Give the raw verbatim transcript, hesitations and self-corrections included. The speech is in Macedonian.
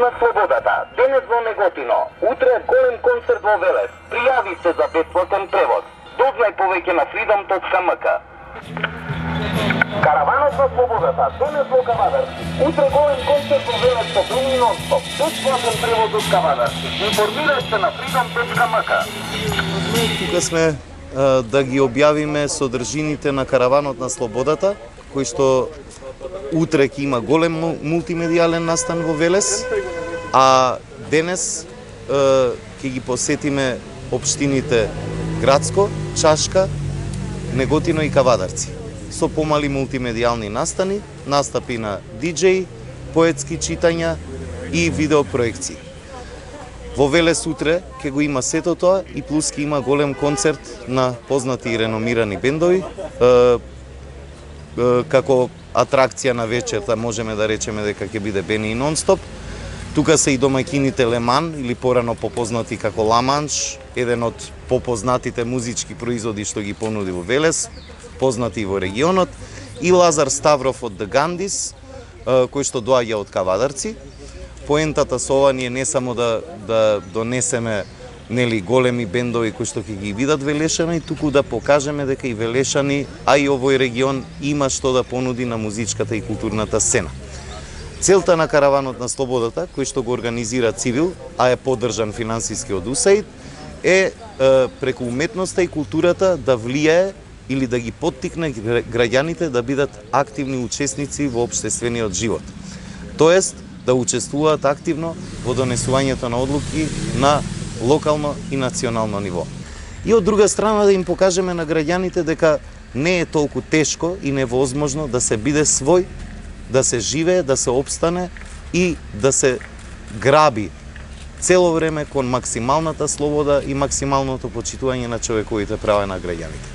на слободата. Денес во Неготино, утре голем концерт во Велес. Пријави се за бесплатен превоз. Дознај повеќе на freedom точка m k. Караванот на слободата, денес во Кавадарци. Утре голем концерт во Велес со Думи нон-стоп. Бесплатен превоз од Кавадарци. Информирај се на freedom точка m k. Тука сме а, да ги објавиме содржините на Караванот на слободата, кој што утре ќе има голем мултимедијален настан во Велес, а денес е, ќе ги посетиме општините Градско, Чашка, Неготино и Кавадарци со помали мултимедијални настани, настапи на диџеи, поетски читања и видеопроекции. Во Велес утре ќе го има сето тоа и плюс ќе има голем концерт на познати и реномирани бендови, е, е, како атракција на вечерта можеме да речеме дека ќе биде Бени и нон-стоп. Тука се и домаќините Леман, или порано попознати како Ламанш, еден од попознатите музички производи што ги понуди во Велес, познати и во регионот, и Лазар Ставров од The Gandis, кој што доаѓа од Кавадарци. Поентата со ова ние не само да, да донесеме нели големи бендови кои што ќе ги видат Велешани, туку да покажеме дека и Велешани, а и овој регион има што да понуди на музичката и културната сцена. Целта на Караванот на слободата, кој што го организира Цивил, а е поддржан финансиски од ю ес ей ид, е, е преку уметноста и културата да влијае или да ги поттикне граѓаните да бидат активни учесници во општествениот живот. Тоест, да учествуваат активно во донесувањето на одлуки на локално и национално ниво. И од друга страна да им покажеме на граѓаните дека не е толку тешко и невозможно да се биде свој, да се живее, да се опстане и да се граби цело време кон максималната слобода и максималното почитување на човековите права на граѓаните.